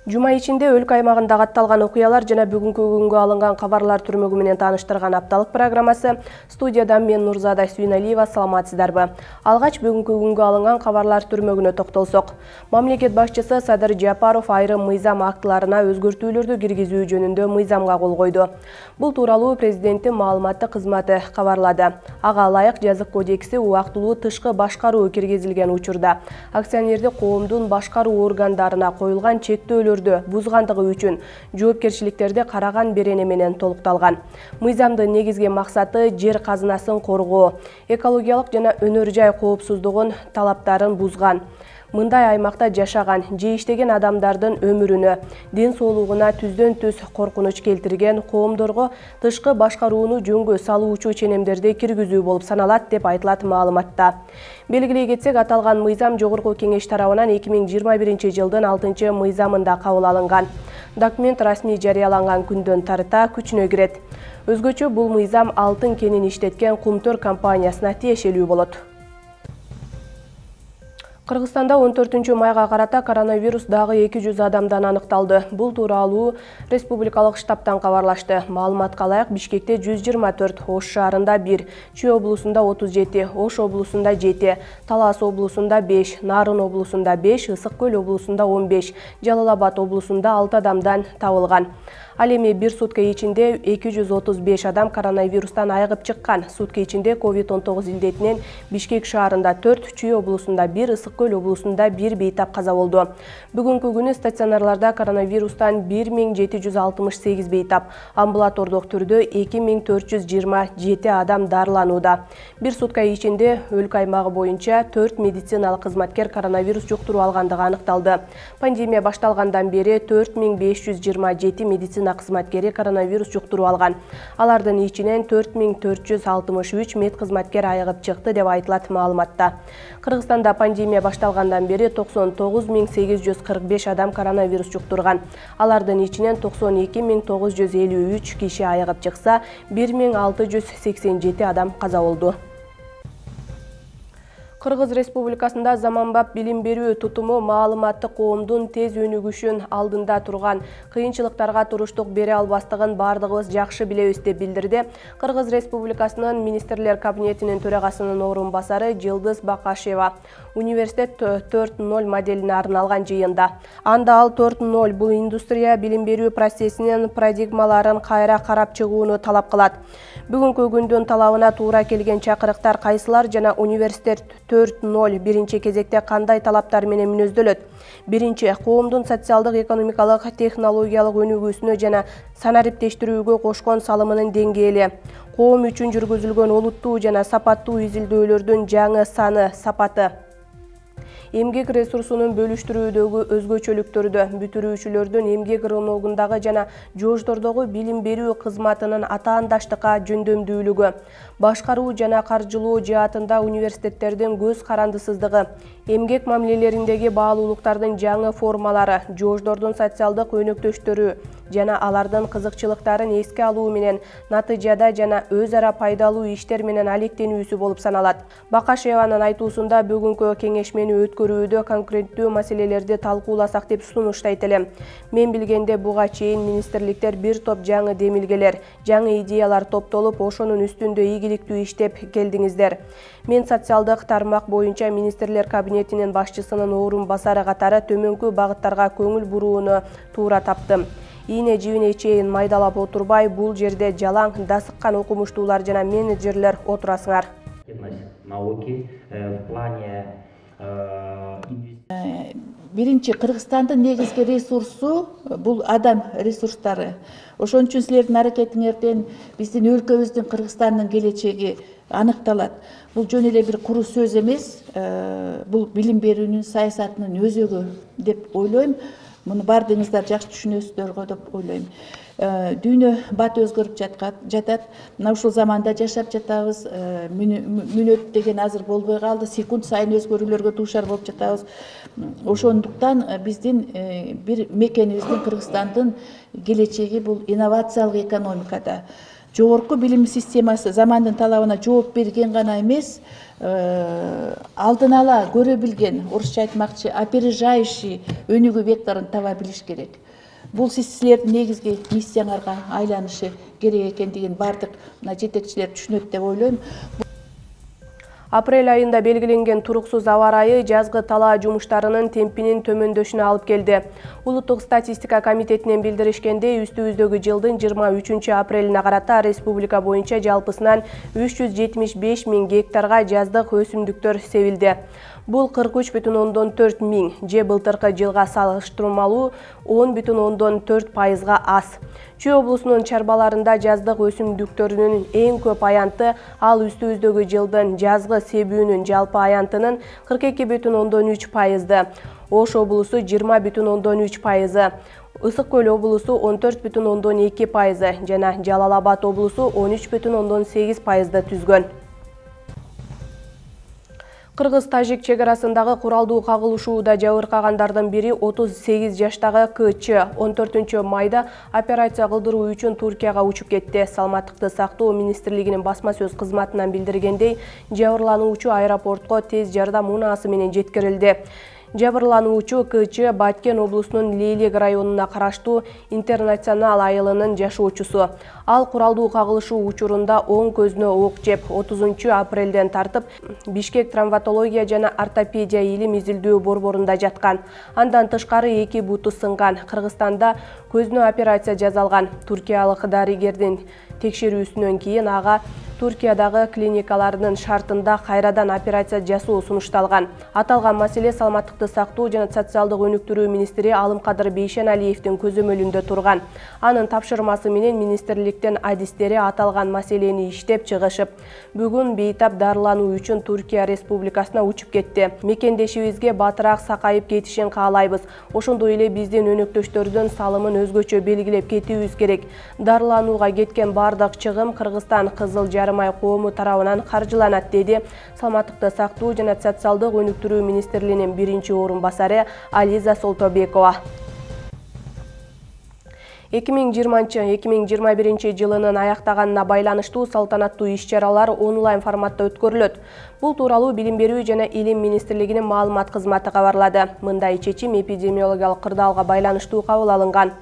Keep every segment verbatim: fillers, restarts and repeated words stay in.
Жума ичинде өлкө аймагында катталган окуялар жана бүгүнкү күнгө алынган кабарлар түрмөгү менен тааныштырган апталык программасы. Студиядан мен Нурзада Сүйналиева, саламатсыздарбы? Алгач бүгүнкү күнгө алынган кабарлар түрмөгүнө токтолсок. Мамлекет башчысы Садыр Жапаров айрым мыйзам актыларына өзгөртүүлөрдү киргизүү жөнүндө мыйзамга кол койду. Бул тууралуу президенттин маалыматтык кызматы кабарлады. Ага ылайык жазык кодекси убактылуу тышкы башкаруу киргизилген учурда акционердик коомдун башкаруу органдарына коюлган чектөөлөр бузгандыгы үчүн жоопкерчиликтерди караган берене менен толукталган. Мыйзамдын негизги максаты жер казынасын коргоо, экологиялык жана өнөр жай коопсуздугун талаптарын бузган. Мындай аймакта жашаган же иштеген адамдардын өмүрүнө, ден соолугуна түздөн түз коркунуч келтирген коомдорго тышкы башкарууну жөнгө салуучу ченемдерди киргизүү болуп саналат деп айтылат маалыматта. Белгилей кетсек, аталган мыйзам Жогорку Кеңеш тарабынан эки миң жыйырма биринчи жылдын алтынчы мыйзамында кабыл алынган. Документ расмий жарыяланган күндөн тарта күчүнө кирет. Өзгөчө бул мыйзам алтын кенин иштеткен Кумтөр компаниясына тиешелүү болот. Кыргызстанда он төртүнчү майга карата коронавирус дагы эки жүз адамдан аныкталды. Бул тууралуу республикалык штабтан кабарлашты. Маалыматка ылайык, Бишкекте жүз жыйырма төрт, Ош шаарында бир, Чүй облусунда отуз жети, Ош облусунда жети, Талас облусунда беш, Нарын облусунда беш, Ысык Көл облусунда он беш, Жалал Абад облусунда алты адамдан табылган. Ал эми бир сутка ичинде эки жүз отуз беш адам коронавирустан айыгып чыккан. Сутка ичинде ковид он тогуз илдетинен Бишкек шаарында төрт, Чүй облусунда бир, Ысык Көл облусунда бир бейтап каза болду. Бүгүнкү күнү стационарларда коронавирустан бир миң жети жүз алтымыш сегиз бейтап, амбулатордук түрдө эки миң төрт жүз жыйырма жети адам дарыланууда. Бир сутка ичинде өлкө аймагы боюнча төрт медициналык кызматкер коронавирус жуктуруу алгандыгы аныкталды. Пандемия башталгандан бери төрт миң беш жүз жыйырма жети медицина кызматкери коронавирус жуктуруу алган. Алардын ичинен төрт миң төрт жүз алтымыш үч мед кызматкер айыгып чыкты деп айтылат маалыматта. Кыргызстанда пандемия башталгандан бери токсон тогуз миң сегиз жүз кырк беш адам коронавирус жуктурган. Алардын ичинен токсон эки миң тогуз жүз элүү үч киши айыгып чыкса, бир миң алты жүз сексен жети адам каза болду. Кыргыз Республикасында заманбап билим берүү тутуму маалыматтык коомдун тез өнүгүшүн алдында турган кыйынчылыктарга туруштук бере албастыгын бардыгыбыз жакшы билебиз деп билдирди Кыргыз Республикасынын Министрлер кабинетинин төрагасынын орун басары Жылдыз Бакашева университет төрт ноль моделине арналган жыйында. Анда ал төрт ноль бул индустрия билим берүү процессинин парадигмаларын кайра карап чыгууну талап кылат. Бүгүнкү күндүн талабына туура келген чакырыктар кайсылар жана университет төрт ноль биринчи кезекте кандай талаптар менен мүнөздөлөт? Биринчи, коомдун социалдык, экономикалык, технологиялык өнүгүүсүнө жана санариптештирүүгө кошкон салымынын деңгээли, коом үчүн жүргүзүлгөн олуттуу жана сапаттуу изилдөөлөрдүн жаңы саны, сапаты, эмгек ресурсунун бөлүштүрүүдөгү өзгөчөлүктөрдү, бүтүрүүчүлөрдүн эмгек рыногундагы жана жождордогу билим берүү кызматынын атаандаштыкка жөндөмдүүлүгү, башкаруу жана каржылоо жаатында университеттердин көз карандысыздыгы, эмгек мамилелериндеги баалуулуктардын жаңы формалары, жождордун социалдык өнөктөштөрү жана алардын кызыкчылыктарын эске алуу менен натыйжада жана өз ара пайдалуу иштер менен алектенүүсү болуп саналат. Бакашеванын айтуусунда бүгүнкү кеңешмени өткөрүүдө конкреттүү маселелерди талкууласак деп сунуштайт элем. Мен билгенде буга чейин министрликтер бир топ жаңы демилгелер, жаңы идеялар топтолуп, ошонун үстүндө ийгиликтүү иштеп келдиңиздер. Мен социалдык тармак боюнча Министрлер кабинетинин башчысынын орун басары катары төмөнкү багыттарга көңүл бурууну туура таптым. Ийне жибине чейин майдалап отурбай, бул жерде жалаң, дасыккан окумуштуулар жана менеджерлер отурасыңар. Науки в плане биринчи, Кыргызстандын негизги ресурсу бул адам ресурстары. Ошон үчүн силердин аракетиңерден биздин өлкөбүздүн, Кыргызстандын келечеги аныкталат. Бул жөн эле бир куру сөз эмес, бул билим берүүнүн саясатынын өзөгү деп ойлойм. Муну бардыгыңыздар жакшы түшүнөсүздөргө деп ойлойм. Дүйнө бат өзгөрүп жатат. Мына ушул заманда жашап жатабыз. Мүнөт деген азыр болбой калды. Секунд сайын өзгөрүүлөргө дуушар болуп жатабыз. Ошондуктан биздин бир мекенибиздин, Кыргызстандын келечеги бул инновациялык экономикада. жогорку билим системасы замандын талабына жооп берген гана эмес, алдын ала көрө билген, орусча айтмакчы, опережающий өнүгүү векторун таба билиш керек. Бул силердин негизги миссияңарга айланышы керек экендигин бардык жетекчилер түшүнөт деп ойлойм. Апрель айында белгиленген туруксуз аба ырайы жазгы талаа жумуштарынын темпинин төмөндөшүнө алып келди. Улуттук статистика комитетинен билдиришкендей, үстүбүздөгү жылдын жыйырма үчүнчү апрелине карата республика боюнча жалпысынан үч жүз жетимиш беш миң гектарга жаздык өсүмдүктөр себилди. Бул кырк үч бүтүн ондон төрт миң же былтыркы жылга салыштырмалуу он бүтүн ондон төрт пайызга аз. Чүй облусунун чарбаларында жаздык өсүмдүктөрүнүн эң көп аянты, ал үстүбүздөгү жылдын жазгы себүүнүн жалпы аянтынын кырк эки бүтүн ондон үч пайызды, Ош облусу жыйырма бүтүн ондон үч пайызы, Ысык көл облусу он төрт бүтүн ондон эки пайызы жана Жалал Абад облусу он үч бүтүн ондон сегиз пайызды түзгөн. Кыргыз-Тажик чек арасындагы куралдуу кагылышууда жабыркагандардын бири отуз сегиз жаштагы К.Ч. он төртүнчү майда операция кылдыруу үчүн Туркияга учуп кетти. Саламаттыкты сактоо министрлигинин басма сөз кызматынан билдиргендей, жабырлануучу аэропортко тез жардам унаасы менен жеткирилди. Жабырлануучу К.Ч. Баткен облусунун Лейлек районуна караштуу Интернационал айылынын жашоочусу. Ал куралдуу кагылышуу учурунда оң көзүнө ок жеп, отузунчу апрелден тартып Бишкек травматология жана ортопедия илим изилдөө борборунда жаткан. Андан тышкары эки буту сынган. Кыргызстанда көзүнө операция жасалган. Туркиялык дарыгердин текшерүүсүнөн кийин ага Туркиядагы клиникалардын шартында кайрадан операция жасоо сунушталган. Аталган маселе Саламаттыкты сактоо жана социалдык өнүктүрүү министри Алымкадыр Бейшеналиевдин көзөмөлүндө турган. Анын тапшырмасы менен министрликтин адистери аталган маселени иштеп чыгышып, бүгүн бейтап дарылануу үчүн Туркия Республикасына учуп кетти. Мекендешибизге батыраак сакайып кетишин каалайбыз. Ошондой эле биздин өнөктөштөрдүн салымын өзгөчө белгилеп кетүүбүз керек. Дарыланууга кеткен бардык чыгым Кыргызстан Кызыл Жарымай коому тарабынан каржыланат, деди Саламаттыкты сактоо жана социалдык өнүктүрүү министрлигинин биринчи орун басары Ализа Солтобекова. эки миң жыйырманчы — эки миң жыйырма биринчи жылынын аяктаганына байланыштуу салтанаттуу иш-чаралар онлайн форматта өткөрүлөт. Бул тууралуу Билим берүү жана Илим министрлигинин маалымат кызматы кабарлады. Мындай чечим эпидемиологиялык кырдаалга байланыштуу кабыл алынган.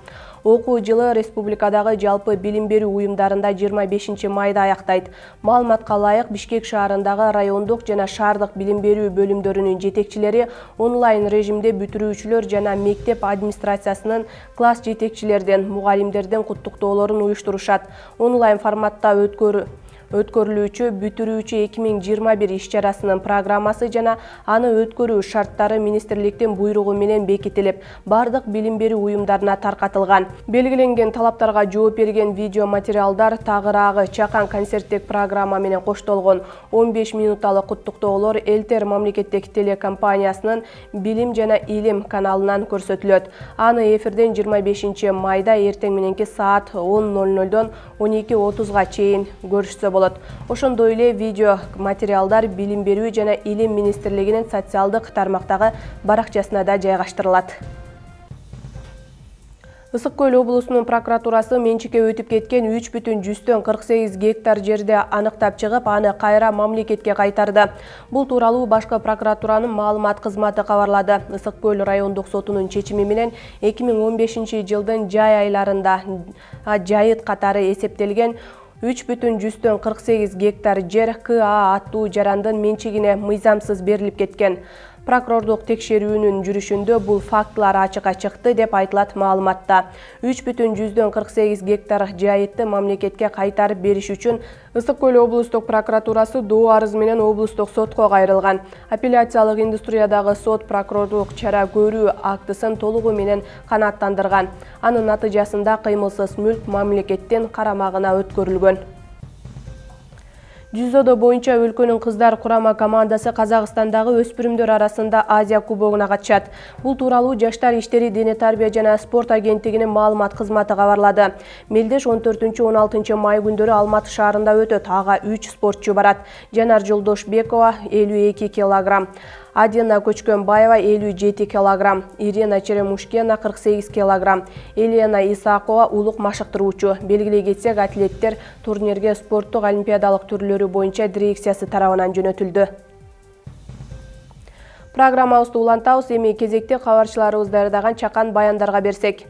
Окуу жылы республикадагы жалпы билим берүү уюмдарында жыйырма бешинчи майда аяктайт. Маалыматка ылайык, Бишкек шаарындагы райондук жана шаардык билим берүү бөлүмдөрүнүн жетекчилери онлайн режимде бүтүрүүчүлөр жана мектеп администрациясынын класс жетекчилерден, мугалимдерден куттуктоолорун уюштурушат. Онлайн форматта өткөрүү өткөрүлүүчү бүтүрүүчү эки миң жыйырма бир иш-чарасынын программасы жана аны өткөрүү шарттары министрликтин буйругу менен бекитилип, бардык билим берүү уюмдарына таркатылган. Белгиленген талаптарга жооп берген видео материалдар тагыраагы чакан концерттик программа менен коштолгон. он беш минуталык куттуктоолор Элтер мамлекеттик телекомпаниясынын Билим жана Илим каналынан көрсөтүлөт. Аны эфирден жыйырма бешинчи майда эртең мененки саат он ноль нольдон он эки отузга чейин көрүшсө болот. Ошондой эле видео материалдар Билим берүү жана Илим министрлигинин социалдык тармактагы баракчасына да жайгаштырылат. Ысык көл облусунун прокуратурасы менчикке өтүп кеткен үч бүтүн жүздөн кырк сегиз гектар жерди аныктап чыгып, аны кайра мамлекетке кайтарды. Бул тууралуу башкы прокуратуранын маалымат кызматы кабарлады. Ысык көл райондук сотунун чечими менен эки миң он бешинчи жылдын жай айларында жайыт катары эсептелген үч бүтүн жүздөн кырк сегиз гектар жер К А аттуу жарандын менчигине мыйзамсыз берилип кеткен. Прокурордук текшерүүнүн жүрүшүндө бул фактылар ачыкка чыкты деп айтылат маалыматта. үч бүтүн жүздөн кырк сегиз гектар жайытты мамлекетке кайтарып бериш үчүн Ысык көл облустук прокуратурасы доо арыз менен облустук сотко кайрылган. Апелляциялык индустриядагы сот прокурордук чара көрүү актысын толугу менен канааттандырган. Анын натыйжасында кыймылсыз мүлк мамлекеттин карамагына өткөрүлгөн. Жүзодо боюнча өлкөнүн кыздар курама командасы Казакстандагы өспүрүмдөр арасында Азия кубогуна катышат. Бул тууралуу Жаштар иштери, дене тарбия жана спорт агенттигинин маалымат кызматы кабарлады. Мелдеш он төртүнчү — он алтынчы май күндөрү Алматы шаарында өтөт. Ага үч спортчу барат. Жанар Жолдошбекова элүү эки килограмм, Адина Көчкөнбаева элүү жети килограмм, Ирина Черемушкина кырк сегиз килограмм, Елена Исакова улук машыктыруучу. Белгилей кетсек, атлеттер турнирге спорттук олимпиадалык түрлөрү боюнча дирекциясы тарабынан жөнөтүлдү. Программабызды улантабыз, эми кезекте кабарчыларыбыз даярдаган чакан баяндарга берсек.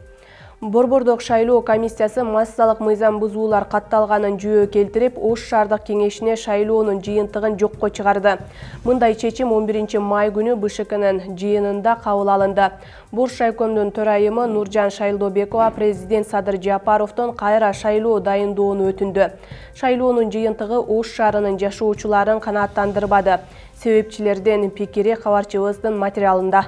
Борбордук шайлоо комиссиясы массалык мыйзам бузуулар катталганын жүйө келтирип, Ош шаардык кеңешине шайлоонун жыйынтыгын жокко чыгарды. Мындай чечим он биринчи май күнү Б Ш Кнын жыйынында кабыл алынды. Бош шайкомдун төрайымы Нуржан Шайлдобекова президент Садыр Жапаровдон кайра шайлоо дайындоону өтүндү. Шайлоонун жыйынтыгы Ош шаарынын жашоочуларын канааттандырбады. Себепчилердин пикири кабарчыбыздын материалында.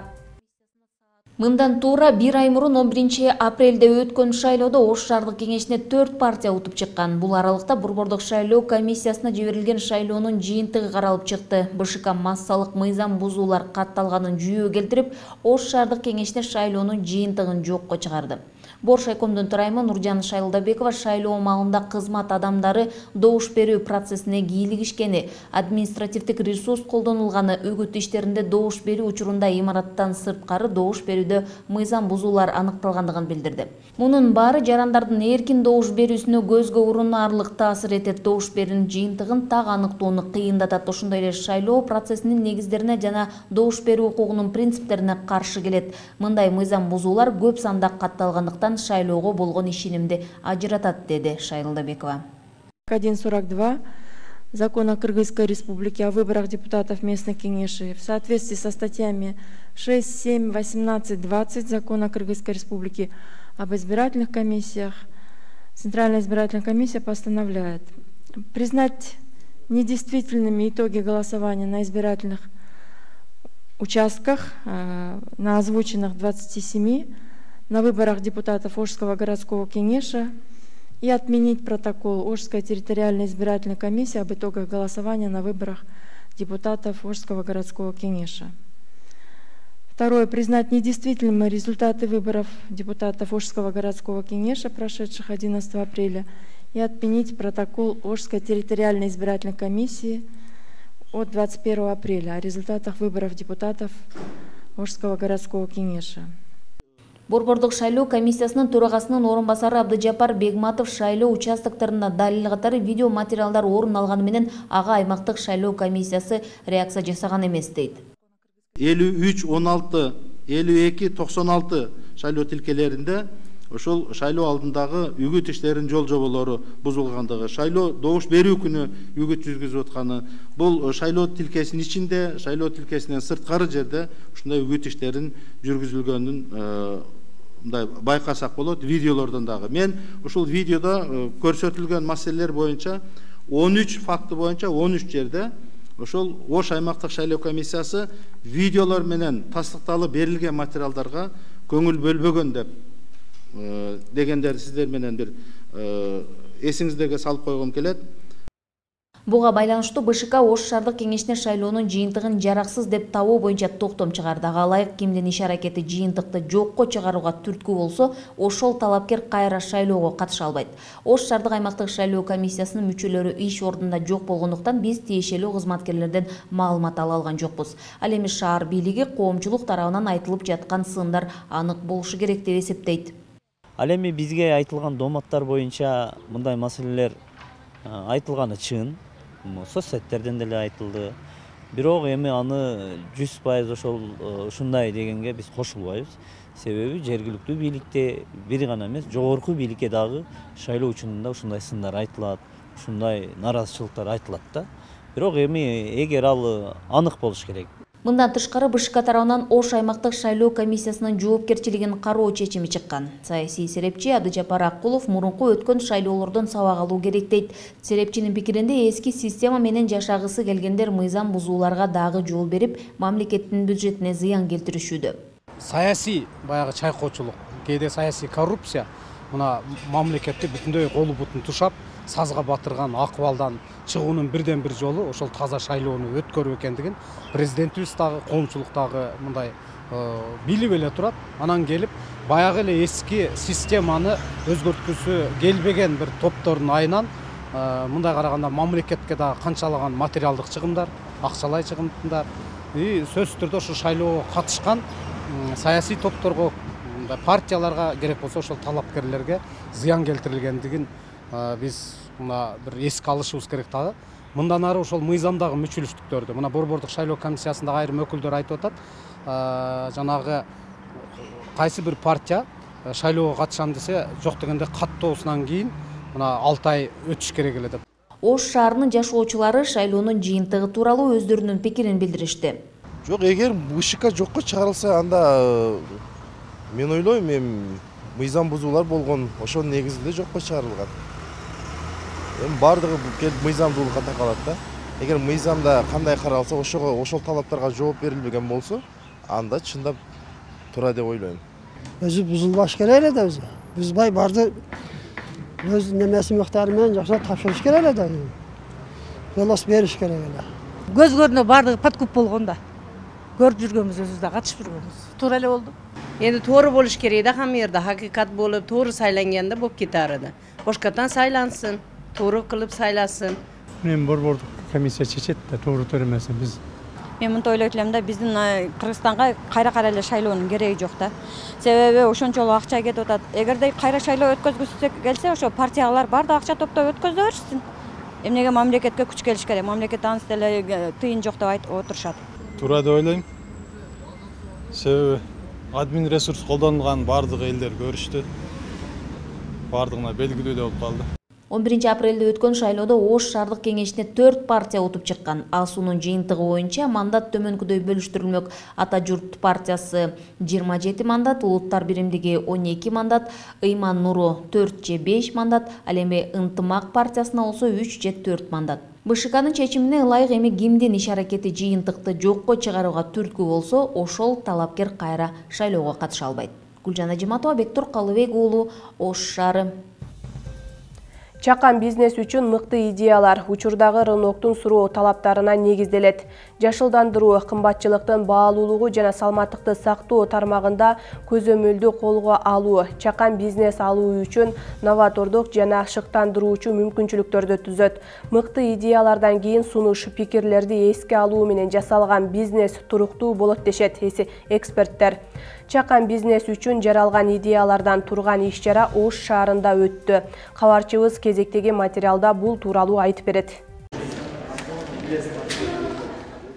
Мындан туура бир ай мурун он биринчи апрелде өткөн шайлоодо Ош шаардык кеңешине төрт партия утуп чыккан. Бул аралыкта Борбордук шайлоо комиссиясына жиберилген шайлоонун жыйынтыгы каралып чыкты. Б Ш К массалык мыйзам бузуулар катталганын жүйө келтирип, Ош шаардык кеңешине шайлоонун жыйынтыгын жокко чыгарды. Бош шайкомдун төрайымы Нуржан Шайлдобекова шайлоо маалында кызмат адамдары добуш берүү процессине кийлигишкени, административдик ресурс колдонулганы, үгүт иштеринде добуш берүү учурунда имараттан сырткары добуш берүүдө мыйзам бузуулар аныкталгандыгын билдирди. Мунун баары жарандардын эркин добуш берүүсүнө көзгө урунарлык таасир этет, добуш берүүнүн жыйынтыгын так аныктоону кыйындатат. Ошондой эле шайлоо процессинин негиздерине жана добуш берүү укугунун принциптерине каршы келет. Мындай мыйзам бузуулар көп санда катталгандыктан шайлоого болгон ишенимди ажыратат, деди Шайлдобекова. один сорок два Закона Кыргызской Республики о выборах депутатов местных кеңешей в соответствии со статьями шесть, семь, восемнадцать, двадцать Закона Кыргызской Республики об избирательных комиссиях, Центральная избирательная комиссия постановляет признать недействительными итоги голосования на избирательных участках, на озвученных двадцати семи, на выборах депутатов Ошского городского кеңеша и отменить протокол Ошской территориальной избирательной комиссии об итогах голосования на выборах депутатов Ошского городского кеңеша. Второе. Признать недействительными результаты выборов депутатов Ошского городского кеңеша, прошедших одиннадцатого апреля, и отменить протокол Ошской территориальной избирательной комиссии от двадцать первого апреля о результатах выборов депутатов Ошского городского кеңеша. Борбордук шайлоо комиссиясынын төрагасынын орун басары Абдыжапар Бегматов шайлоо участоктарында далил катары видео материалдар орун алганы менен ага аймактык шайлоо комиссиясы реакция жасаган эмес дейт. элүү үч он алты элүү эки токсон алты шайлоо тилкелеринде ошол шайлоо алдындагы үгүт иштеринин жол жоболору бузулгандыгы, шайлоо добуш берүү күнү үгүт жүзгүзүп атканы, бул шайлоо тилкесинин ичинде, шайлоо тилкесинен сырткары жерде ушундай үгүт иштерин жүргүзүлгөнүн мындай байкасак болот, видеолордон дагы. Мен ушул видеодо көрсөтүлгөн маселелер боюнча он үч факты боюнча он үч жерде ошол Ош аймактык шайлоо комиссиясы видеолор менен тастыкталып берилген материалдарга көңүл бөлбөгөн деп дегендер сиздер менен бир эсиңиздерге салып койгум келет. Буга байланыштуу Б Ш К Ош шаардык кеңешине шайлоонун жыйынтыгын жараксыз деп табуу боюнча токтом чыгарды. Ага ылайык кимдин иш-аракети жыйынтыкты жокко чыгарууга түрткү болсо, ошол талапкер кайра шайлоого катыша албайт. Ош шаардык аймактык шайлоо комиссиясынын мүчөлөрү иш ордунда жок болгондуктан биз тиешелүү кызматкерлерден маалымат ала алган жокпуз. Ал эми шаар бийлиги коомчулук тарабынан айтылып жаткан сындар анык болушу керек деп эсептейт. Ал эми бизге айтылган дооматтар боюнча мындай маселелер айтылганы чын, соцсеттерден деле айтылды. Бирок эми аны жүз пайыз ошол ушундай дегенге биз кошулбайбыз. Себеби жергиликтүү бийликте бир гана эмес, жогорку бийликке дагы шайлоо учурунда ушундай сындар айтылат, ушундай наразычылыктар айтылат да. Бирок эми эгер ал анык болуш керек. Мындан тышкары Б Ш К тарабынан Ош аймактык шайлоо комиссиясынын жоопкерчилигин кароо чечими чыккан. Саясий серепчи Абдыжапар Акулов мурунку өткөн шайлоолордон сабак алуу керек дейт. Серепчинин пикиринде эски система менен жашагысы келгендер мыйзам бузууларга дагы жол берип, мамлекеттин бюджетине зыян келтиришүүдө. Саясий баягы чайкоочулук, кээде саясий коррупция мына мамлекетти бүтүндөй колу бутун тушап, сазга батырган акыбалдан чыгуунун бирден бир жолу ошол таза шайлоону өткөрүү экендигин президентибиз дагы коомчулук дагы мындай билип эле турат. Анан келип баягы эле эски системаны өзгөрткүсү келбеген бир топтордун айынан мындай караганда мамлекетке дагы канчалаган материалдык чыгымдар, акчалай чыгымдар и сөзсүз түрдө ошо шайлоого катышкан саясий топторго, партияларга керек болсо ошол талапкерлерге зыян келтирилгендигин биз мына бир эске алышыбыз керек дагы. Мындан ары ошол мыйзамдагы мүчүлүштүктөрдү мына Борбордук шайлоо комиссиясындагы айрым өкүлдөр айтып атат, жанагы кайсы бир партия шайлоого катышам десе, жок дегенде каттоосунан кийин мына алты ай өтүш керек эле деп. Ош шаарынын жашоочулары шайлоонун жыйынтыгы тууралуу өздөрүнүн пикирин билдиришти. Жок, эгер ВШК жокко чыгарылса, анда мен ойлойм, эми мыйзам бузуулар болгон, ошонун негизинде жокко чыгарылган. Эми бардыгы келип мыйзамдуулукка такалат да. Эгер мыйзамда кандай каралса, ошого ошол талаптарга жооп берилбеген болсо, анда чындап туура деп ойлойм. Өзү бузулбаш керек эле да, өзү. Бузбай барды өз немеси мыктары менен жакшылап тапшырыш керек эле да. Жолос бериш керек эле. Көз көрүнө бардыгы подкуп болгон да. Көрүп жүргөнбүз, өзүбүз да катышып жүргөнбүз. Туура эле болду. Эми туура болуш керек да, хамма жерде хакыйкат болуп, туура сайланганда болуп кетарыды. Бошкатан сайлансын, туура кылып сайласын. Мен Борбордук комиссия чечет да, туура туура эмесин биз. Мен мынтип ойлойт элем да, биздин Кыргызстанга кайра-кайра эле шайлоонун кереги жок да. Себеби ошончолук акча кетип атат. Эгерде кайра шайлоо өткөзгүсү келсе, ошо партиялар бардык акча топтоп өткөзө беришсин. Эмнеге мамлекетке күч келиш керек? Мамлекет анысы деле тыйын жок деп айтып отурушат. Туура деп ойлойм. Себеби админ ресурс колдонулган бардык элдер көрүштү. Бардыгына белгилүү болуп калды. он биринчи апрелде өткөн шайлоодо Ош шаардык кеңешине төрт партия утуп чыккан. АСУнун жыйынтыгы боюнча мандат төмөнкүдөй бөлүштүрүлмөк. Ата журт партиясы жыйырма жети мандат, Улуттар биримдиги он эки мандат, Ыйман Нуру төрт же беш мандат, ал эми Ынтымак партиясына болсо үч же төрт мандат. БШКнын чечимине ылайык эми кимдин иш аракети жыйынтыкты жокко чыгарууга түрткү болсо, ошол талапкер кайра шайлоого катыша албайт. Гүлжан Ажиматова, Бектур Калыбек уулу, Ош шаары. Чакан бизнес үчүн мыкты идеялар учурдагы рыноктун суроо талаптарына негизделет. Жашылдандыруу, кымбатчылыктын баалуулугу жана салматтыкты сактоо тармагында көзөмөлдү колго алуу, чакан бизнес алуу үчүн новатордук жана шыктандыруучу мүмкүнчүлүктөрдү түзөт. Мыкты идеялардан кийин сунуш, пикирлерди эске алуу менен жасалган бизнес туруктуу болот дешет эксперттер. Чакан бизнес үчүн жаралган идеялардан турган иш-чара Ош шаарында өттү. Кабарчыбыз кезектеги материалда бул тууралуу айтып берет.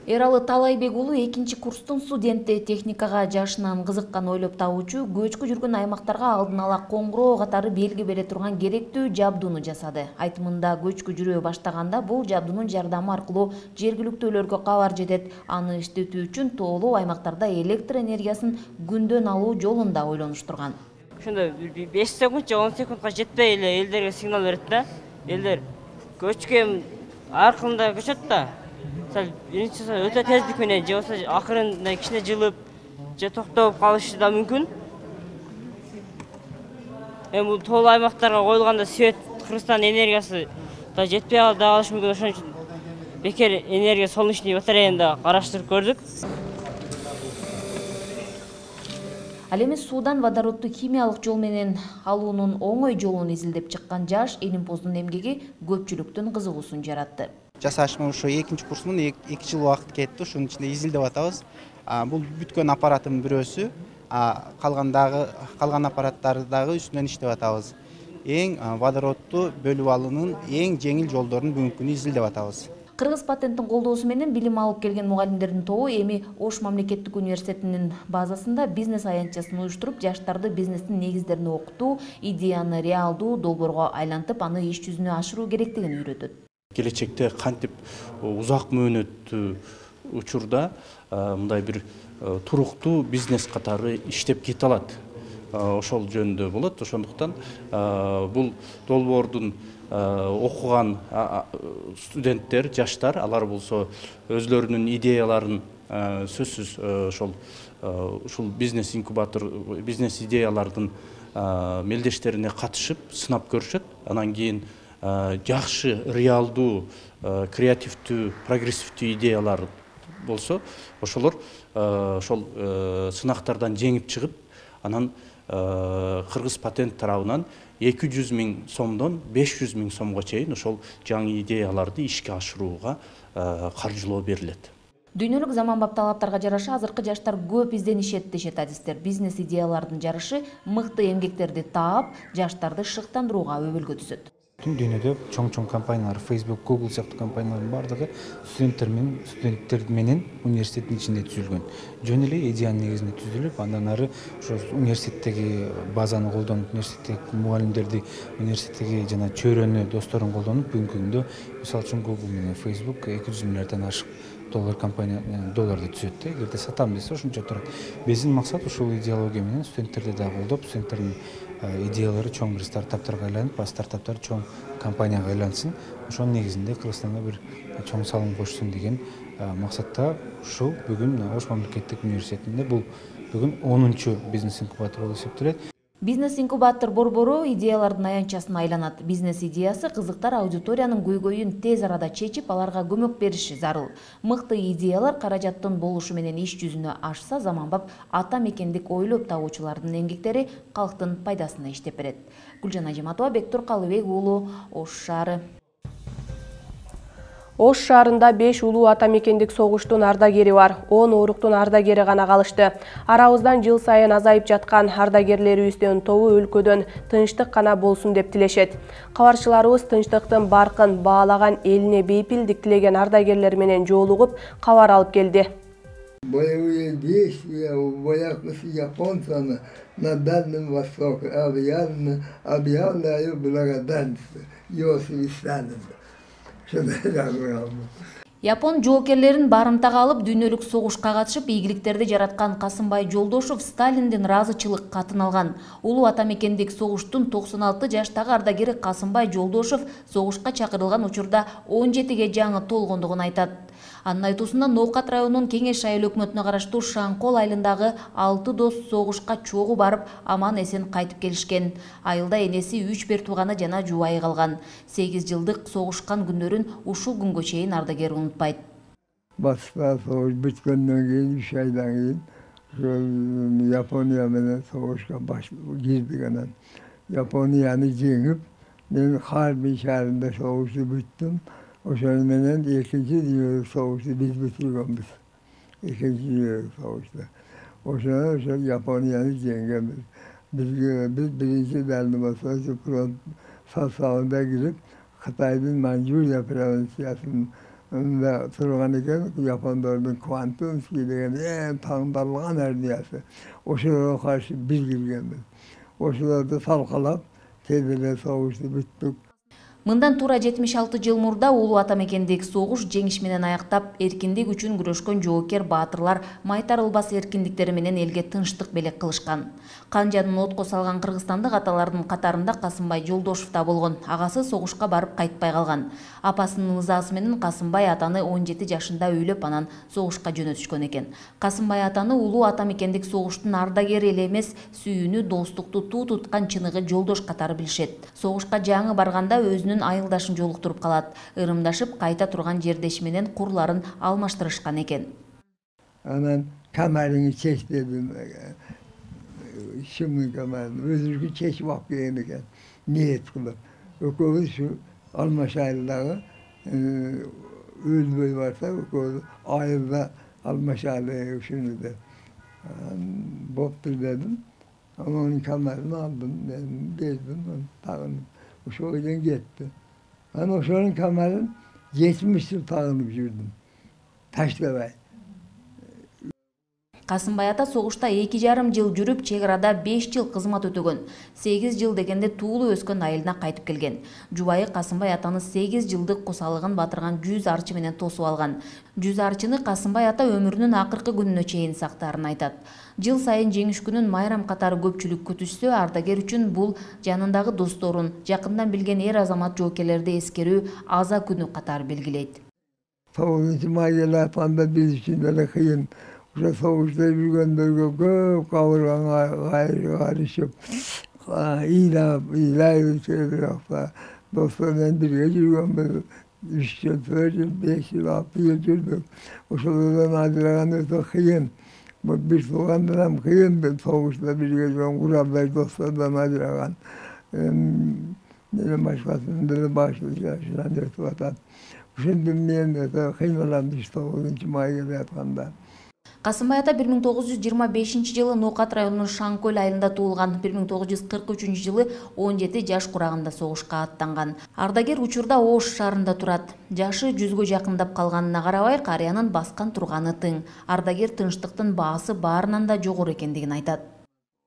Эралы Талайбек уулу экинчи курстун студенти, техникага жашынан кызыккан, ойлоп табуучу, көчкү жүргөн аймактарга алдын ала коңгуроо катары белги бере турган керектүү жабдууну жасады. Айтымында көчкү жүрө баштаганда бул жабдуунун жардамы аркылуу жергиликтүүлөргө кабар жетет. Аны иштетүү үчүн тоолуу аймактарда электр энергиясын күндөн алуу жолун да ойлонуштурган. Ошондо беш секунд же он секундка жетпей эле элдерге сигнал берет да. Элдер көчкө аркылында көчөт да. Биринчи өтө тездик менен же болбосо акырында кичине жылып же токтоп калышы да мүмкүн. Эми бул тоолуу аймактарга коюлганда свет Кыргызстан энергиясы да жетпей калышы мүмкүн. Ошон үчүн бекер энергия солнечный батареяны да караштырып көрдүк. Ал эми суудан водородду химиялык жол менен алуунун оңой жолун изилдеп чыккан жаш илимпоздун эмгеги көпчүлүктүн кызыгуусун жаратты. Жасашыма ошо экинчи курсумун эки жыл убакыт кетти, ошонун ичинде изилдеп атабыз. Бул бүткөн аппараттын бирөөсү, калгандагы калган аппараттарды дагы үстүнөн иштеп атабыз. Эң водородду бөлүп алуунун эң жеңил жолдорун бүгүнкү күнү изилдеп атабыз. Кыргыз патенттин колдоосу менен билим алып келген мугалимдердин тобу эми Ош мамлекеттик университетинин базасында бизнес аянтчасын уюштуруп, жаштарды бизнестин негиздерин окутуу, идеяны реалдуу долбоорго айлантып, аны иш жүзүнө ашыруу керектигин үйрөтөт. Келечекте кантип узак мөөнөттүү учурда мындай бир туруктуу бизнес катары иштеп кете алат. Ошол жөнүндө болот. Ошондуктан бул долбоордун окуган студенттер, жаштар, алар болсо өзлөрүнүн идеяларын сөзсүз ошол ушул бизнес инкубатор, бизнес идеялардын мелдештерине катышып, сынап көрүшөт. Анан кийин жакшы, реалдуу, креативдүү, прогрессивдүү идеялар болсо, ошолор ошол сынактардан жеңип чыгып, анан Кыргыз патент тарабынан эки жүз миң сомдон беш жүз миң сомго чейин ошол жаңы идеяларды ишке ашырууга каржылоо берилет. Дүйнөлүк заманбап талаптарга жараша азыркы жаштар көп изденишет дешет адистер. Бизнес идеялардын жарышы мыкты эмгектерди таап, жаштарды шыктандырууга өбөлгө түзөт. Бүтүн дүйнөдө чоң-чоң компаниялар, Facebook, Google сыяктуу компаниялардын бардыгы студенттер менен студенттер менен университеттин ичинде түзүлгөн. Жөн эле идеянын негизинде түзүлүп, андан ары ошо университеттеги базаны колдонуп, университеттеги мугалимдерди, университеттеги жана чөйрөнү, досторун колдонуп, бүгүнкү күндө мисалы үчүн Google менен Facebook эки жүз миллиарддан ашык доллар компания долларды түзөт да. Эгерде сатам десе ошончо турат. Биздин максат ушул идеология менен студенттерди да колдоп, студенттердин идеялары чоң бир стартаптарга айланып, стартаптар чоң компанияга айлансын. Ошонун негизинде Кыргызстанга бир чоң салым кошсун деген максатта ушул бүгүн Ош мамлекеттик университетинде бул бүгүн онунчу бизнес инкубатор болуп эсептелет. Бизнес-инкубатор борбору идеялардын аянтчасына айланат. Бизнес идеясы кызыктар аудиториянын көйгөйүн тез арада чечип, аларга көмөк бериши зарыл. Мыкты идеялар каражаттын болушу менен иш жүзүнө ашса, заманбап ата мекендик ойлоп табуучулардын эмгектери калктын пайдасына иштеп берет. Гүлжан Ажиматова, Бектур Калыбек уулу, Ош шаары. Ош шаарында беш улуу ата мекендик согуштун ардагери бар. он оруктун ардагери гана калышты. Арабыздан жыл сайын азайып жаткан ардагерлерибиздин тобу өлкөдөн тынчтык гана болсун деп тилешет. Кабарчыларыбыз тынчтыктын баркын баалаган, элине бейпилдик тилеген ардагерлер менен жолугуп, кабар алып келди. Боевые действия вояков японцев на Дальнем Востоке объявлены, объявляю благодарность Иосифу Сталину. Япон жоокерлерин барымтага алып, дүйнөлүк согушка катышып, ийгиликтерди жараткан Касымбай Жолдошов Сталиндин ыраазычылык катын алган. Улуу ата мекендик согуштун токсон алты жаштагы ардагери Касымбай Жолдошов согушка чакырылган учурда он жетиге жаңы толгондугун айтат. Анын айтуусунда Ноокат районунун Кеңеш айыл өкмөтүнө караштуу Шаңкол айылындагы алты дос согушка чогуу барып, аман эсен кайтып келишкен. Айылда энеси, үч бер тууганы жана жубайы калган. сегиз жылдык согушкан күндөрүн ушул күнгө чейин ардагер унутпайт. Батышта согуш бүткөндөн кийин үч айдан кийин Япония менен согушка баш кирдик. Анан Японияны жеңип, мен Харбин шаарында согушту бүттүм. Ошол менен экинчи дүйнөлүк согушту биз бүтүргөнбүз. Экинчи дүйнөлүк согушту. Ошол ошол Японияны жеңгенбиз. Бизге биз биринчи Дальний Восток фронт составында кирип, Кытайдын Манчжурия провинциясында турган экен, япондордун Квантунский деген эң таңдалган армиясы. Ошолорго каршы биз киргенбиз. Ошолорду талкалап, тез эле согушту бүттүк. Мындан туура жетимиш алты жыл мурда улуу ата мекендик согуш жеңиш менен аяктап, эркиндик үчүн күрөшкөн жоокер баатырлар майтарылбас эркиндиктери менен элге тынчтык белек кылышкан. Канжанын отко салган кыргызстандык аталардын катарында Касымбай Жолдошов да болгон. Агасы согушка барып кайтпай калган. Апасынын ызаасы менен Касымбай атаны он жети жашында үйлөп, анан согушка жөнөтүшкөн экен. Касымбай атаны улуу ата мекендик согуштун ардагери эле эмес, сүйүүнү, достукту туу туткан чыныгы жолдош катары билишет. Согушка жаңы барганда өзүнүн айылдашын жолуктуруп калат. Ырымдашып, кайта турган жердеши менен курларын алмаштырышкан экен. Анан камерыңы чеч дедим. Шымдын камерын өзүнүкү чечип алып келген экен. Ниет кылып. Экөөбүз ушу Алмаш айылдагы өлбөй барса, экөөбүз айылда Алмаш айылы ушуну деп. Боптур дедим. Анын камерын алдым, мен бердим, тагынып. Ошол жерден кетти. Анан ошонун камерын жетимиш жыл тагынып жүрдүм. Таштабай. Касымбай ата согушта эки жарым жыл жүрүп, чек арада беш жыл кызмат өтөгөн. сегиз жыл дегенде туулуу өскөн айылына кайтып келген. Жубайы Касымбай атаны сегиз жылдык косалыгын батырган жүз арчы менен тосуп алган. жүз арчыны Касымбай ата өмүрүнүн акыркы күнүнө чейин сактаарын айтат. Жыл сайын жеңиш күнүн майрам катары көпчүлүк күтүшсө, ардагер үчүн бул жанындагы досторун, жакындан билген эр азамат жоокерлерди эскерүү аза күнү катары белгилейт. тогузунчу майда апанда биз үчүн деле кыйын. Ошо согушта жүргөндөргө көп кабырган кайрышып, ыйлап, ыйлайбыз бирок достор менен бирге жүргөнбүз. үч жыл, төрт жыл, беш жыл, алты жыл жүрдүк. Ошолордон ажыраган өтө кыйын. Бир туугандан ham кыйын, согушта бирге жүргөн куралдай достордон ажыраган. Менен башкасынын деле башы жашынан өтүп атат. ошондон мен кыйналам уч тогузунчу май келип атканда. Касымбай ата бир миң тогуз жүз жыйырма бешинчи жылы Ноокат районунун Шаңкөл айылында туулган. бир миң тогуз жүз кырк үчүнчү жылы он жети жаш курагында согушка аттанган. Ардагер учурда Ош шаарында турат. Жашы жүзгө жакындап калганына карабай, карыянын баскан турганы тың. Ардагер тынчтыктын баасы баарынан да жогору экендигин айтат.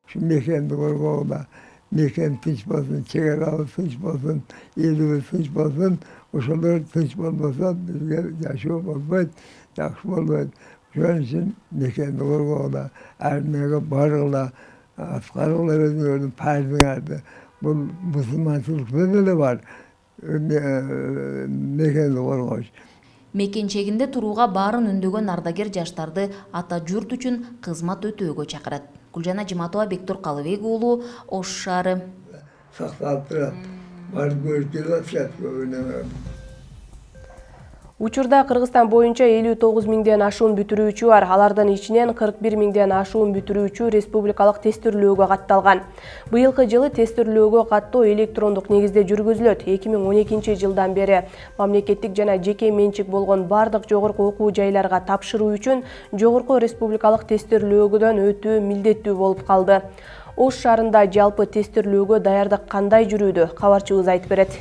Ушу мекенди коргоодо мекен тынч болсун, чек арабыз тынч болсун, элибиз тынч болсун, ошолор тынч болбосо бизге жашоо болбойт, жакшы болбойт. Ошон үчүн мекенди коргоодо ар эмеге баргыла, аткаргыла өзүңөрдүн пайызыңарды. Бул мусулманчылыкта деле бар мекенди коргош. Мекенчегинде турууга баарын үндөгөн ардагер жаштарды ата журт үчүн кызмат өтөөгө чакырат. Гүлжана Жиматова, Бектур Калыбек уулу, Ош шаары. Сакталып турат. Бар көрүп келип атышат көбүнө. Учурда Кыргызстан боюнча элүү тогуз миңден ашуун бүтүрүүчү бар. Алардын ичинен кырк бир миңден ашуун бүтүрүүчү республикалык тестирлөөгө катталган. Быйылкы жылы тестирлөөгө каттоо электрондук негизде жүргүзүлөт. эки миң он экинчи жылдан бери мамлекеттик жана жеке менчик болгон бардык жогорку окуу жайларга тапшыруу үчүн жогорку республикалык тестирлөөгөдөн өтүү милдеттүү болуп калды. Ош шаарында жалпы тестирлөөгө даярдык кандай жүрүүдө? Кабарчыбыз айтып берет.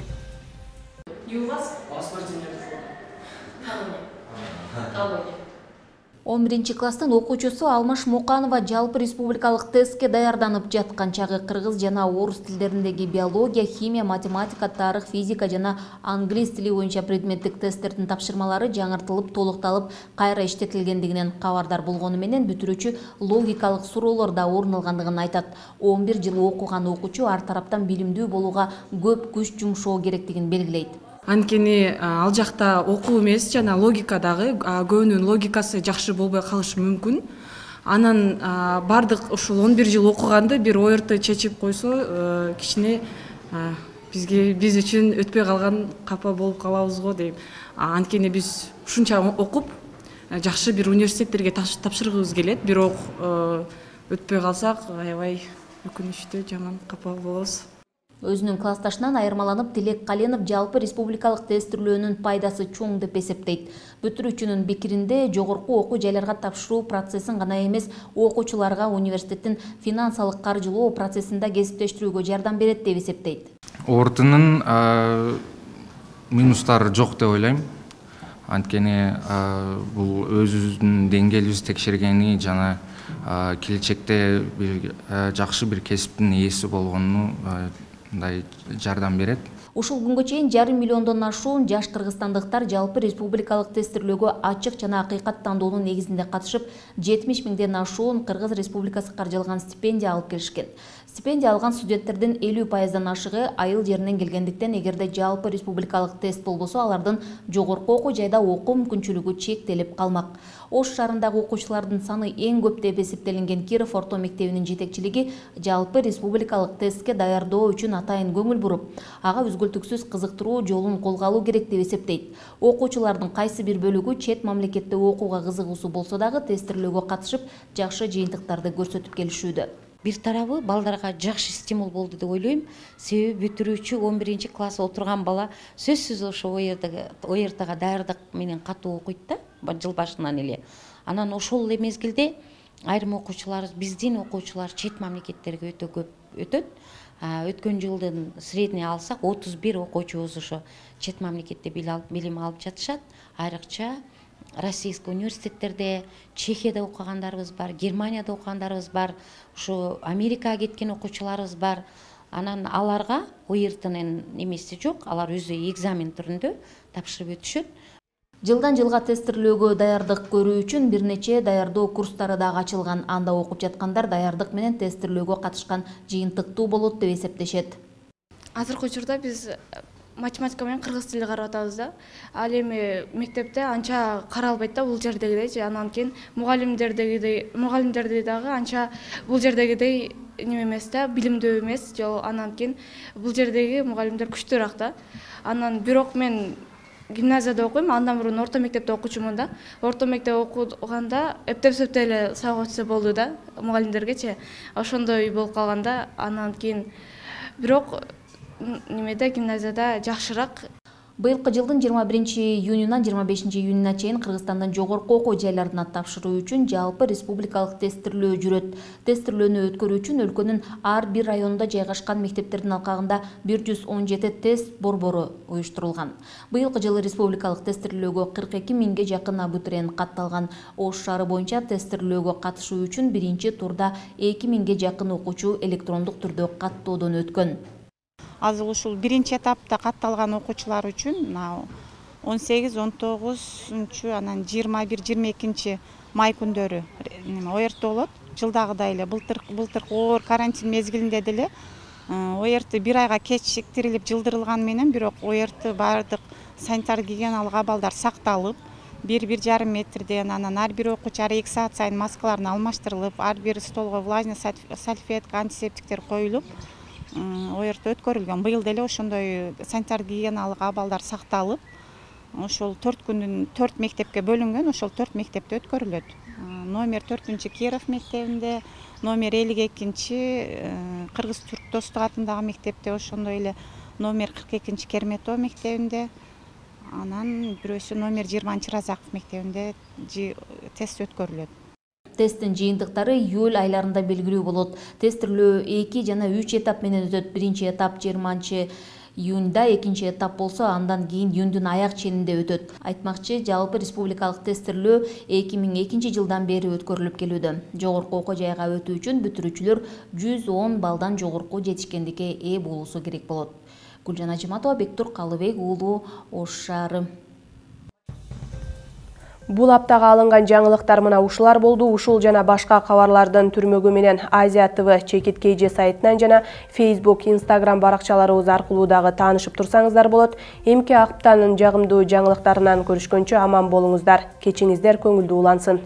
он биринчи класстын окуучусу Алмаш Моканова жалпы республикалык тестке даярданып жаткан чагы кыргыз жана орус тилдериндеги биология, химия, математика, тарых, физика жана англис тили боюнча предметтик тесттердин тапшырмалары жаңыртылып, толукталып, кайра иштетилгендигинен кабардар болгону менен бүтүрүүчү логикалык суроолор да орун алгандыгын айтат. он бир жыл окуган окуучу ар тараптан билимдүү болууга көп күч жумшоо керектигин белгилейт. Анткени ал жакта окуу эмес жана логика дагы көбүнүн логикасы жакшы болбой калышы мүмкүн. Анан бардык ушул он бир жыл окуганды бир ойрту чечип койсо кичине бизге биз үчүн өтпөй калган капа болуп калабыз го дейм. Анткени биз ушунча окуп жакшы бир университеттерге тапшыргыбыз келет, бирок өтпөй калсак аябай өкүнүчтүү, жаман капа болобуз. Өзүнүн классташынан айырмаланып, Тилек Каленов жалпы республикалык тестирлөөнүн пайдасы чоң деп эсептейт. Бүтүрүүчүнүн пикиринде жогорку окуу жайларга тапшыруу процессин гана эмес, окуучуларга университеттин финансылык каржылоо процессин да кесиптештирүүгө жардам берет деп эсептейт. Ортунун минустары жок деп ойлойм. Анткени бул өзүбүздүн деңгээлибизди текшергени жана келечекте бир жакшы бир кесиптин ээси болгонуну мындай жардам берет. Ушул күнгө чейин жарым миллиондон ашуун жаш кыргызстандыктар жалпы республикалык тестирлөөгө ачык жана акыйкат тандоонун негизинде катышып, жетимиш миңден ашуун Кыргыз Республикасы каржылган стипендия алып келишкен. Стипендия алган студенттердин элүү пайыздан ашыгы айыл жеринен келгендиктен, эгерде жалпы республикалык тест болбосо, алардын жогорку окуу жайда окуу мүмкүнчүлүгү чектелип калмак. Ош шаарындагы окуучулардын саны эң көп деп эсептелинген Киров орто мектебинин жетекчилиги жалпы республикалык тестке даярдоо үчүн атайын көңүл буруп, ага үзгүлтүксүз кызыктыруу жолун колго алуу керек деп эсептейт. Окуучулардын кайсы бир бөлүгү чет мамлекетте окууга кызыгуусу болсо дагы тестирлөөгө катышып, жакшы жыйынтыктарды көрсөтүп келишүүдө. Бир тарабы балдарга жакшы стимул болду деп ойлойм. Себеби бүтүрүүчү он биринчи класс отурган бала сөзсүз ошо о эр тга даярдык менен катуу окуйт да, жыл башынан эле. Анан ошол эле мезгилде айрым окуучулар, биздин окуучулар чет мамлекеттерге өтө көп өтөт. Өткөн жылдын средний алсак отуз бир окуучубуз ошо чет мамлекетте билим алып жатышат. Айрыкча российский университеттерде, Чехияда окугандарыбыз бар, Германияда окугандарыбыз бар, ушу Америкага кеткен окуучуларыбыз бар. Анан аларга о эр тнын эмеси жок, алар өзү экзамен түрүндө тапшырып өтүшөт. Жылдан жылга тестирлөөгө даярдык көрүү үчүн бир нече даярдоо курстары дагы ачылган. Анда окуп жаткандар даярдык менен тестирлөөгө катышкан жыйынтыктуу болот деп эсептешет. Азыркы учурда биз математика менен кыргыз тили карап атабыз да. Ал эми мектепте анча каралбайт да бул жердегидей. Анан кийин мугалимдердегидей, мугалимдерди дагы анча бул жердегидей неме эмес да, билимдүү эмес. Жол анан кийин бул жердеги мугалимдер күчтүүрөөк да. Анан бирок мен гимназияда окуйм, андан мурун орто мектепте окуучумун да. Орто мектепте окуганда эптеп-сөптөй эле сабак өтсө болду да, мугалимдергечи. Ошондой болуп калганда, анан кийин бирок немеде гимназияда жакшыраак. Быйылкы жылдын жыйырма биринчи июнунан жыйырма бешинчи июнуна чейин Кыргызстандын жогорку окуу жайларына тапшыруу үчүн жалпы республикалык тестирлөө жүрөт. Тестирлөөнү өткөрүү үчүн өлкөнүн ар бир районунда жайгашкан мектептердин алкагында бир жүз он жети тест борбору уюштурулган. Быйылкы жылы республикалык тестирлөөгө кырк эки миңге жакын абитуриент катталган. Ош шаары боюнча тестирлөөгө катышуу үчүн биринчи турда эки миңге жакын окуучу электрондук түрдө каттоодон өткөн. Азыр ушул биринчи этапта катталган окуучулар үчүн он сегиз он тогузунчу анан жыйырма бир жыйырма экинчи май күндөрү о эр т болот. Жылдагыдай эле былтыр былтыркы оор карантин мезгилинде деле о эр т бир айга кечиктирилип жылдырылган менен, бирок о эр т баардык санитар гигиеналык абалдар сакталып, бир бир жарым метрден, анан ар бир окуучу ар эки саат сайын маскаларын алмаштырылып, ар бир столго влажный салфетка, антисептиктер коюлуп о эр т өткөрүлгөн. Быйыл деле ошондой санитар гигиеналык абалдар сакталып, ошол төрт күндүн төрт мектепке бөлүнгөн, ошол төрт мектепте өткөрүлөт. Номер төртүнчү Киров мектебинде, номер элүү экинчи Кыргыз Түрк Достук атындагы мектепте, ошондой эле номер кырк экинчи Керметов мектебинде, анан бирөөсү номер жыйырманчы Разаков мектебинде тест өткөрүлөт. Тесттин жыйынтыктары июль айларында белгилүү болот. Тестирлөө эки жана үч этап менен өтөт. Биринчи этап жыйырманчы июнда, экинчи этап болсо андан кийин июндун аяк ченинде өтөт. Айтмакчы, жалпы республикалык тестирлөө эки миң экинчи жылдан бери өткөрүлүп келүүдө. Жогорку окуу жайга өтүү үчүн бүтүрүүчүлөр жүз он балдан жогорку жетишкендикке ээ болуусу керек болот. Гүлжан Ажыматова, Бектур Калыбек уулу, Ош шаары. Бул аптага алынган жаңылыктар мына ушулар болду. Ушул жана башка кабарлардын түрмөгү менен Азия ТВ чекит кейже сайтынан жана Facebook, Instagram баракчаларыбыз аркылуу дагы таанышып турсаңыздар болот. Эмки аптанын жагымдуу жаңылыктарынан көрүшкөнчө аман болуңуздар. Кечиңиздер көңүлдүү улансын.